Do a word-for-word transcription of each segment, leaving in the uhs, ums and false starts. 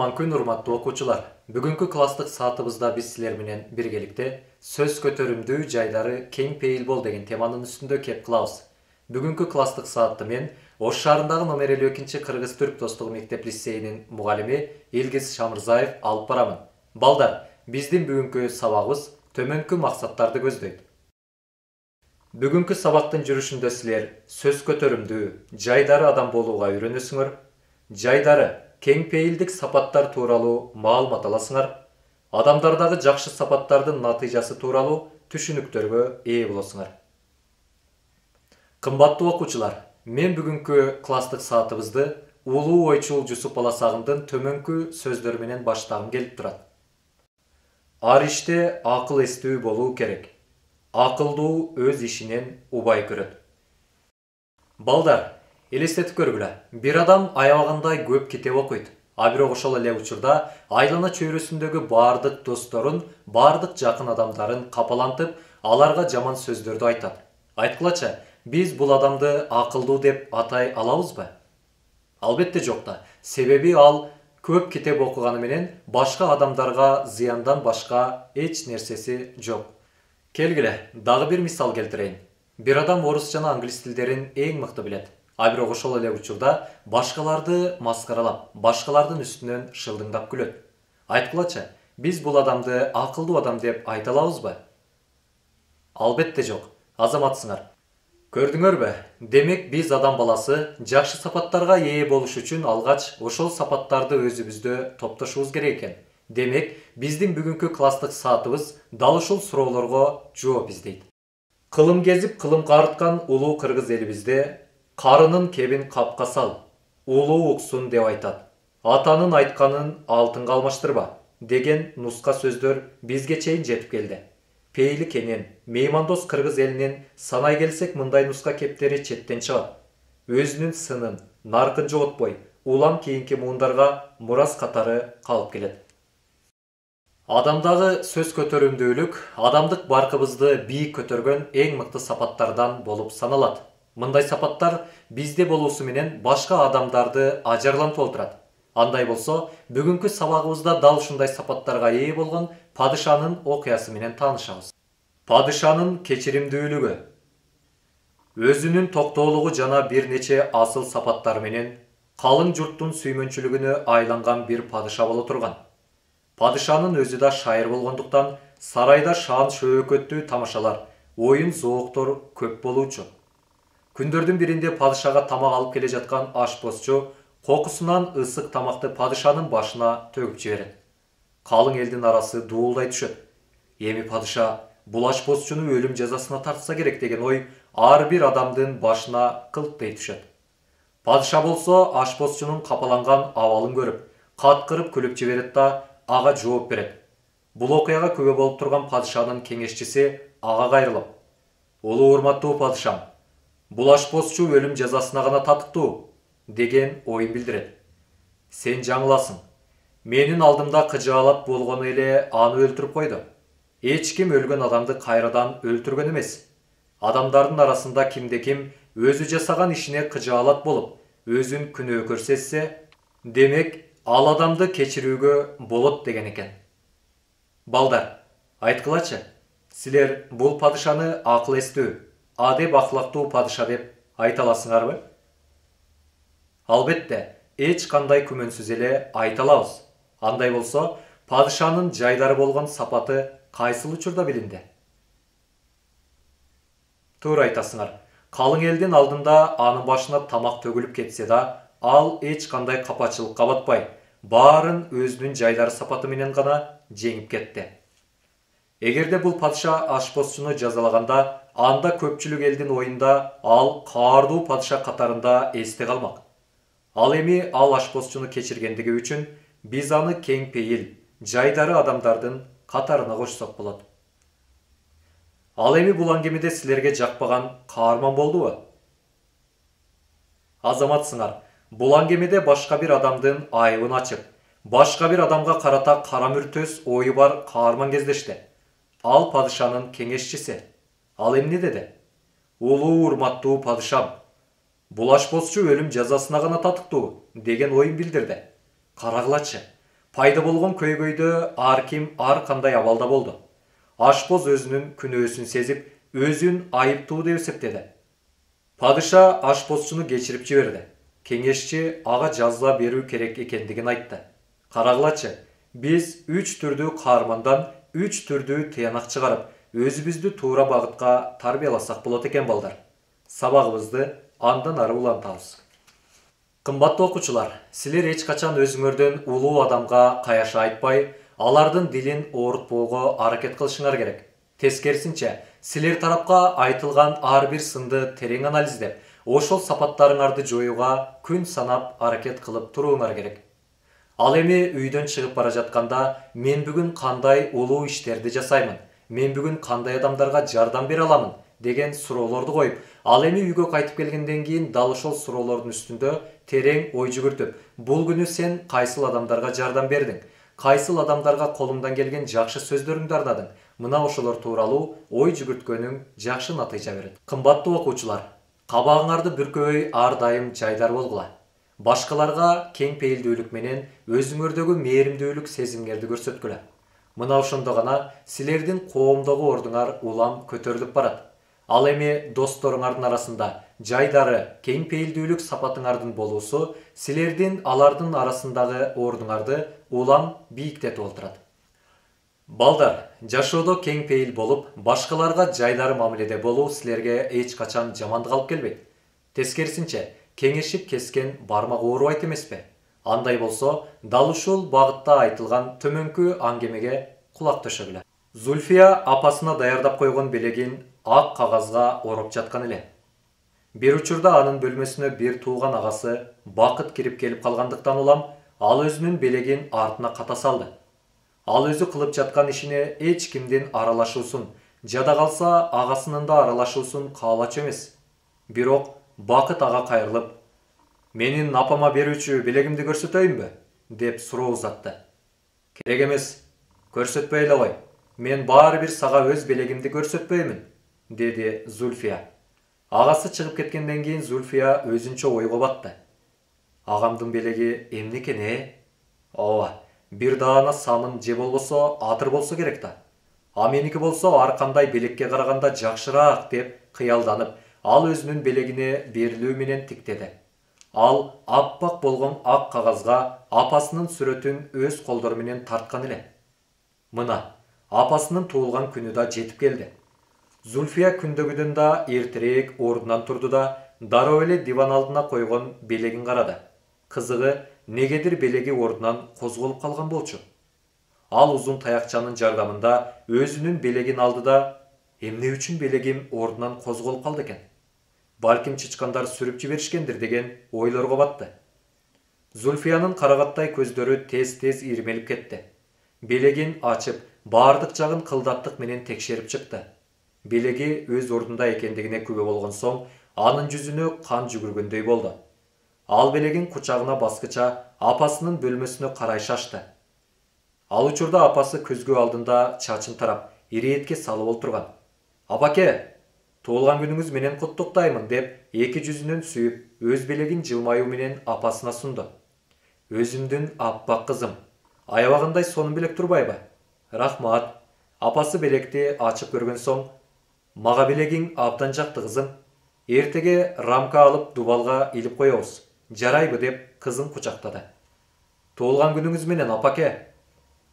кутман күн, урматтуу окуучулар. Бүгүнкү класстык саатыбызда биз силер менен биргеликте сөз көтөрүмдүү жайлары кең пейил бол деген теманын үстүндө кеп кылабыз. Бүгүнкү класстык саатты мен Ош шаарындагы номер элүү экинчи кыргыз-түрк достугу мектеп лицейинин мугалими Илгиз Шамырзаев алып барамын. Балдар, биздин бүгүнкү сабагыбыз төмөнкү максаттарды көздөйт. Бүгүнкү сабактын жүрүшүндө силер сөз көтөрүмдүү жайдары адам болууга үйрөнөсүңөр. Жайдары кең пейилдик сапаттар тууралуу маалымат аласыңар. Адамдардагы жакшы сапаттардын натыйжасы тууралуу түшүнүктөргө ээ болосуңар. Кымбаттуу окуучулар, мен бүгүнкү класстык саатыбызды улуу ойчул Жусуп Баласагындын төмөнкү сөздөрү менен баштагым келип турат. Ар иште акыл эстүү болуу керек. Акылдуу өз ишинен убай көрөт. Балдар, элестетип көргүлө. Бир адам аябагандай көп китеп окуйт. А бирок ошол эле учурда айлана чөйрөсүндөгү бардык досторун, бардык жакын адамдарын капалантып, аларга жаман сөздөрдү айтат. Айткылачы, биз бул адамды акылдуу деп атай алабызбы? Албетте жок да. Себеби ал көп китеп окуганы менен башка адамдарга зыяндан башка эч нерсеси жок. Келгиле, дагы бир мисал келтирейин. Бир адам орус жана англис тилдерин эң мыкты билет. А бирок ошол эле учурда башкаларды маскаралап, башкалардын үстүнөн шылдыңдап күлөт. Айткылачы, биз бул адамды акылдуу адам деп айта алабызбы? Албетте жок. Азаматсыңар. Көрдүңөрбү? Демек биз адам баласы жакшы сапаттарга ээ болуш үчүн алгач ошол сапаттарды өзүбүздө топтошубуз керек экен. Демек, биздин бүгүнкү класстык саатыбыз дал ушул суроолорго жооп издейт. Кылым кезип, кылым карыткан улуу кыргыз элибизде карынын кебин капка сал, улуу уксун деп айтат. Атанын айтканын алтынга алмаштырба деген нуска сөздөр бизге чейин жетип келди. Пейили кенен, меймандос кыргыз элинин санай келсек мындай нуска кептери четтен чыгат. Өзүнүн сынын, наркын жоготпой, улам кийинки муундарга мурас катары калып келет. Адамдагы сөз көтөрүмдүүлүк адамдык баркыбызды бийик көтөргөн эң мыкты сапаттардан болуп саналат. Мындай сапаттар бизде болуусу менен башка адамдарды ажарлантып олтурат. Андай болсо, бүгүнкү сабагыбызда дал ушундай сапаттарга ээ болгон падышанын окуясы менен таанышабыз. Падышанын кечиримдүүлүгү. Өзүнүн токтоолугу жана бир нече асыл сапаттары менен калың журттун сүймөнчүлүгүнө айланган бир падыша боло турган. Падышанын өзү да шайыр болгондуктан сарайда шаан шөөкөттүү тамашалар, оюн зооктор көп болуучу. Күндөрдүн биринде падышага тамак алып келе жаткан ашпозчу кокусунан ысык тамакты падышанын башына төгүп жиберет. Калың элдин арасы дуулдай түшөт. Эми падыша бул ашпозчуну өлүм жазасына тартса керек деген ой ар бир адамдын башына кылттай түшөт. Падыша болсо ашпозчунун капаланган абалын көрүп, каткырып күлүп жиберет да ага жооп берет. Бул окуяга күбө болуп турган падышанын кеңешчиси ага кайрылып: "Улуу урматтуу падышам, бул ашпозчу өлүм жазасына гана татыктуу" деген оюн билдирет. "Сен жаңыласың. Менин алдымда кыжаалат болгону эле аны өлтүрүп койду. Эч ким өлгөн адамды кайрадан өлтүргөн эмес. Адамдардын арасында кимде-ким өзү жасаган ишине кыжаалат болуп, өзүн күнөө көрсетсе, демек ал адамды кечирүүгө болот деген экен." Балдар, айткылачы, силер бул падышаны акыл эстүү, адеп ахлактуу падыша деп айта аласыңарбы? Албетте, эч кандай күмөнсүз эле айта алабыз. Андай болсо, падышанын жайдары болгон сапаты кайсыл учурда билинди? Туура айтасыңар. Калың элдин алдында анын башына тамак төгүлүп кетсе да, ал эч кандай капачылыкка батпай, баарын өзүнүн жайдары сапаты менен гана жеңип кетти. Эгерде бул падыша ашпозчуну жазалаганда, анда көпчүлүк элдин оюнда ал каардуу падыша катарында эсте калмак. Ал эми ал ашпозчуну кечиргендиги үчүн биз аны кең пейил, жайдары адамдардын катарына кошсок болот. Ал эми бул аңгемеде силерге жакпаган каарман болдубу? Азаматсыңар, бул аңгемеде башка бир адамдын айыбын ачып, башка бир адамга карата кара мүртөс ою бар каарман кездешти. Ал падышанын кеңешчиси. Ал эмне деди? "Улуу урматтуу падышам, бул ашпозчу өлүм жазасына гана татыктуу" деген оюн билдирди. Карагылачы, Пайда болгон көйгөйдө ар ким ар кандай абалда болду. Ашпоз өзүнүн күнөөсүн сезип, өзүн айыптуу деп эсептеди. Падыша ашпозчуну кечирип жиберди. Кеңешчи ага жаза берүү керек экендигин айтты. Карагылачы, биз үч түрдүү каармандан үч түрдүү тыянак чыгарып, өзүбүздү туура багытка тарбияласак болот экен балдар. Сабагыбызды андан ары улантабыз. Кымбаттуу окуучулар, силер эч качан өзүңөрдөн улуу адамга каяша айтпай, алардын дилин оорутпоого аракет кылышыңар керек. Тескерисинче, силер тарапка айтылган ар бир сынды терең анализдеп, ошол сапаттарыңарды жоюуга күн санап аракет кылып турууңар керек. Ал эми үйдөн чыгып бара жатканда, мен бүгүн кандай улуу иштерди жасаймын, мен бүгүн кандай адамдарга жардам бере аламын деген суроолорду коюп, ал эми үйгө кайтып келгенден кийин дал ошол суроолордун үстүндө терең ой жүгүртүп, бул күнү сен кайсыл адамдарга жардам бердиң, кайсыл адамдарга колуңдан келген жакшы сөздөрүңдү арнадың, мына ошолор тууралуу ой жүгүрткөнүң жакшы натыйжа берет. Кымбаттуу окуучулар, кабагыңарды бүркөбөй ар дайым жайдар болгула. Башкаларга кең пейилдүүлүк менен өзүңөрдөгү мээримдүүлүк сезимиңерди көрсөткүлө. Мына ошондо гана силердин коомдогу ордуңар улам көтөрүлүп барат. Ал эми досторуңардын арасында жайдары, кең пейилдүүлүк сапатыңардын болуусу силердин алардын арасындагы ордуңарды улам бийиктетип олтурат. Балдар, жашоодо кең пейил болуп, башкаларга жайдары мамиледе болуу силерге эч качан жамандык алып келбейт. Тескерисинче, кеңешип кескен бармак оорубайт эмеспи? Андай болсо, дал ушул багытта айтылган төмөнкү аңгемеге кулак төшөгүлө. Зульфия апасына даярдап койгон белегин ак кагазга ороп жаткан эле. Бир учурда анын бөлмөсүнө бир тууган агасы Бакыт кирип келип калгандыктан улам ал өзүнүн белегин артына ката салды. Ал өзү кылып жаткан ишине эч кимдин аралашуусун, жада калса агасынын да аралашуусун каалачу эмес. Бирок Бакыт ага кайрылып, менин апама берүүчү белегимди көрсөтөйүнбү? Деп суроо узатты. Керек эмес, көрсөтпөй эле кой. Мен баары бир сага өз белегимди көрсөтпөймүн, деди Зульфия. Агасы чыгып кеткенден кийин Зульфия өзүнчө ойго батты. Агамдын белеги эмне экен э? Ооба, бир даана самын же болбосо атыр болсо керек да. А меники болсо ар кандай белекке караганда жакшыраак деп кыялданып, ал өзүнүн белегине берилүү менен тиктеди. Ал аппак болгон ак кагазга апасынын сүрөтүн өз колдору менен тарткан эле. Мына, апасынын туулган күнү да жетип келди. Зульфия күндөгүдөн да эртерээк ордунан турду да, дароо эле диван алдына койгон белегин карады. Кызыгы, негедир белеги ордунан козголуп калган болчу. Ал узун таякчанын жардамында өзүнүн белегин алды да, эмне үчүн белегим ордунан козголуп калды экен? Балким чычкандар сүрүп жиберишкендир деген ойлорго батты. Зульфиянын карагаттай көздөрү тез-тез ирмелип кетти. Белегин ачып, баардык жагын кылдаттык менен текшерип чыкты. Белеги өз ордунда экендигине күбө болгон соң, анын жүзүнө кан жүгүргөндөй болду. Ал белегин кучагына баскыча апасынын бөлмөсүнө карай шашты. Ал учурда апасы көзгө алдында чачын тарап, иретке салып олтурган. Апаке, туулган күнүңүз менен куттуктаймын деп эки жүзүнөн сүйүп, өз белегин жылмаюу менен апасына сунду. Өзүмдүн аппак кызым, аябагандай сонун белек турбайбы? Рахмат. Апасы белекти ачып көргөн соң, мага белегиң абдан жакты кызым. Эртеге рамка алып дубалга илип коебуз. Жарайбы деп кызын кучактады. Туулган күнүңүз менен апаке.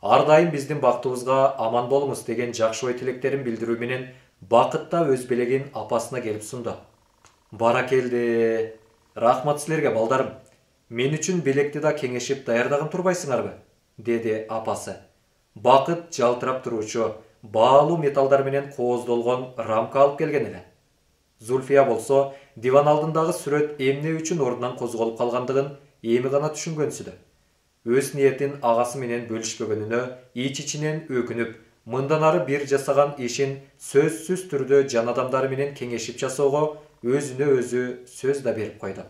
Ар дайым биздин бактыбызга аман болуңуз деген жакшы ой тилектерин билдирүү менен Бакыт да өз белегин апасына келип сунду. Баракелде. Рахмат силерге балдарым. Мен үчүн белекти да кеңешип даярдаган турбайсыңарбы? Деди апасы. Бакыт жалтырап туруучу, баалуу металлдар менен кооздолгон рамка алып келген эле. Зульфия болсо, диван алдындагы сүрөт эмне үчүн ордунан козголуп калгандыгын эми гана түшүнгөнсүдө. Өз ниетин агасы менен бөлүшпөгөнүнө ич-ичинен өкүнүп, мындан ары бир жасаган ишин сөзсүз түрдө жан адамдары менен кеңешип жасоого өзүнө өзү сөз да берип койду.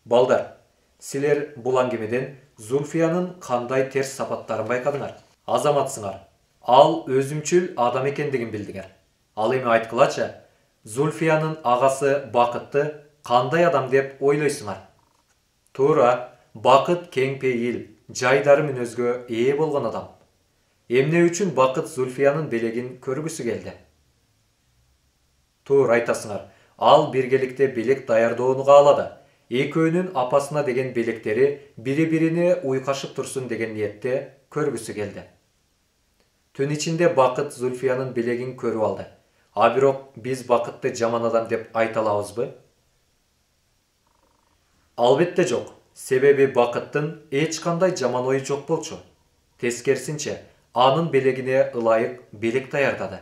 Балдар, силер бул аңгемеден Зульфиянын кандай терс сапаттарын байкадыңар? Азаматсыңар. Ал өзүмчүл адам экендигин билдиңер. Ал эми айткылачы, Зульфиянын агасы Бакытты кандай адам деп ойлойсуңар? Туура, Бакыт кең пейил, жайдары мүнөзгө ээ болгон адам. Эмне үчүн Бакыт Зульфиянын белегин көргүсү келди? Туура айтасыңар. Ал биргеликте белек даярдоону каалады. Экөөнүн апасына деген белектери бири-бирине уйкашып турсун деген ниетте көргүсү келди. Түн ичинде Бакыт Зульфиянын белегин көрүп алды. А бирок биз Бакытты жаман адам деп айта алабызбы? Албетте жок. Себеби Бакыттын эч кандай жаман ою жок болчу. Тескерисинче, анын белегине ылайык белек даярдады.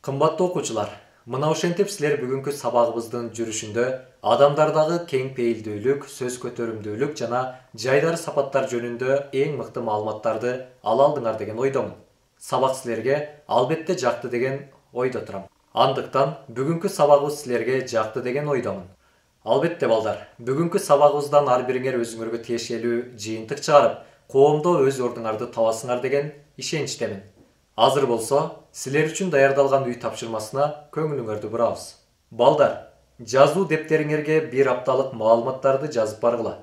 Кымбаттуу окуучулар, мына ошентип силер бүгүнкү сабагыбыздын жүрүшүндө адамдардагы кең пейилдүүлүк, сөз көтөрүмдүүлүк жана жайдары сапаттар жөнүндө эң мыкты маалыматтарды ала алдыңар деген ойдомун. Сабак силерге албетте жакты деген ойдо турам. Андыктан бүгүнкү сабагыбыз силерге жакты деген ойдомун. Албетте балдар, бүгүнкү сабагыбыздан ар бириңер өзүңөргө тиешелүү жыйынтык чыгарып, коомдо өз ордуңарды табасыңар деген ишеничтемин. Азыр болсо, силер үчүн даярдалган үй тапшырмасына көңүлүңөрдү бурабыз. Балдар, жазуу дептериңерге бир апталык маалыматтарды жазып баргыла.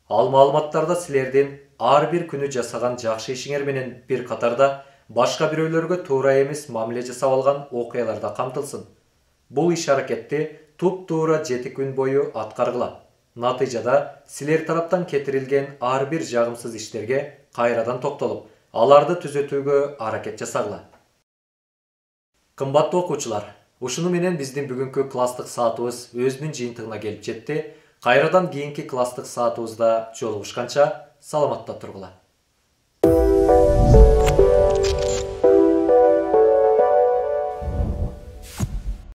Ал маалыматтарда силердин ар бир күнү жасаган жакшы ишиңер менен бир катарда башка бирөөлөргө туура эмес мамиле жасап алган окуялар да камтылсын. Бул иш аракетти туп-туура жети күн бою аткаргыла. Натыйжада силер тараптан кетирилген ар бир жагымсыз иштерге кайрадан токтолуп, аларды түзөтүүгө аракет жасагыла. Кымбаттуу окуучулар, ушуну менен биздин бүгүнкү класстык саатыбыз өзүнүн жыйынтыгына келип жетти. Кайрадан кийинки класстык саатыбызда жолугушканча саламатта тургула.